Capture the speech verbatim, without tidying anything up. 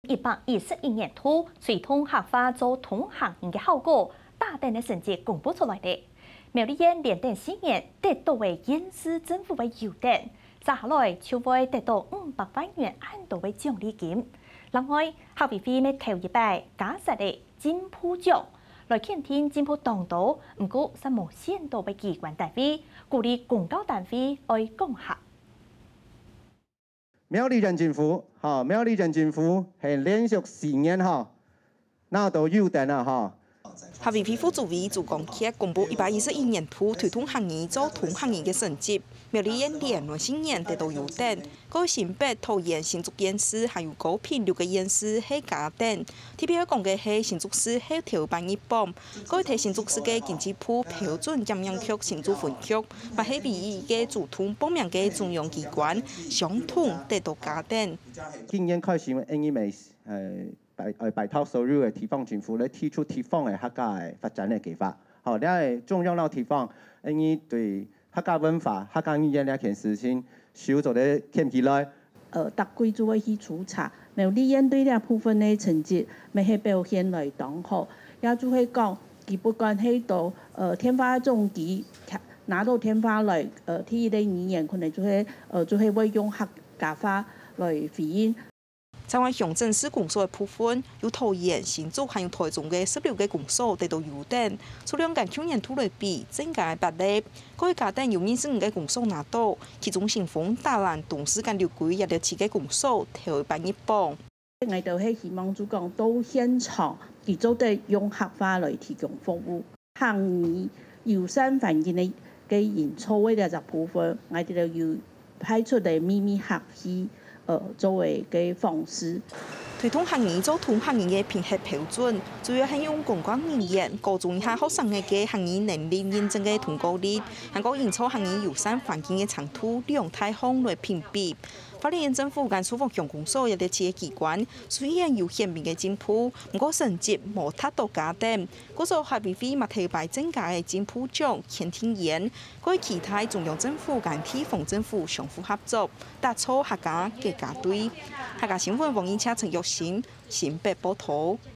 一百一十一年度推動客話做通行語个效果，打等个成績公布出來了。苗栗縣連等四年得到个縣市政府个優等，接下來就會得到五百萬元恁多个獎勵金。另外，客委會乜頭一擺加設个進步獎，來肯定進步當多，毋過煞無選到个機關單位，鼓勵公教單位愛講客。 苗栗縣政府，吼，苗栗縣政府係連續四年，吼，拿到優等啊，吼。客委會副主委朱光傑公布一百一十一年度推動客語做通行語个成績，苗栗縣連續四年得到優等，過新北、桃園、新竹縣市還有高屏六個縣市係甲等。特別愛講个係新竹市係頭一百入榜，過在新竹市个經濟部標準檢驗局新竹分局， 嘛係唯一一個主動報名个中央機關，相同得到甲等。今年開始，𫣆俚，呃，拜，呃，拜託所有个地方政府來提出地方个客家个發展个計畫。好，這个中央摎地方，𫣆俚對客家文化、客家語言這件事情，手做得牽起來。 呃，逐季就會去抽查。苗栗縣對這部分个成績，乜係表現來當好。也就係講，佢不管係到，呃，電話總機，拿到電話來，呃，第一個語言可能就係，呃，就係會用客家話來回應。在鄉鎮市公所个部分，有桃園、新竹還有台中个十六個公所得到優等，數量跟舊年度來比，增加八個。 過去甲等有二十五個公所拿到，其中新豐、打懶、東勢跟六龜這六七個公所頭一擺入榜。𠊎兜係希望就講到現場，佢做得用客話來提供服務。客語友善環境个，个營造个這隻部分，𠊎兜有派出个秘密客氣，呃，作為个方式。 推動客語做通行語个評核標準，主要係用公教語言、高中以下學生仔个客語能力認證个通過率，還過營造客語友善環境个程度兩大項來評比。花蓮縣政府跟壽豐鄉公所這六七個機關，雖然有顯明个進步，毋過成績無達到甲等。故所客委會嘛特別增加个進步獎、肯定員，過期待中央政府跟地方政府相互合作， 打造客家國家隊。客家新聞黃英車、陳玉興，新北報導。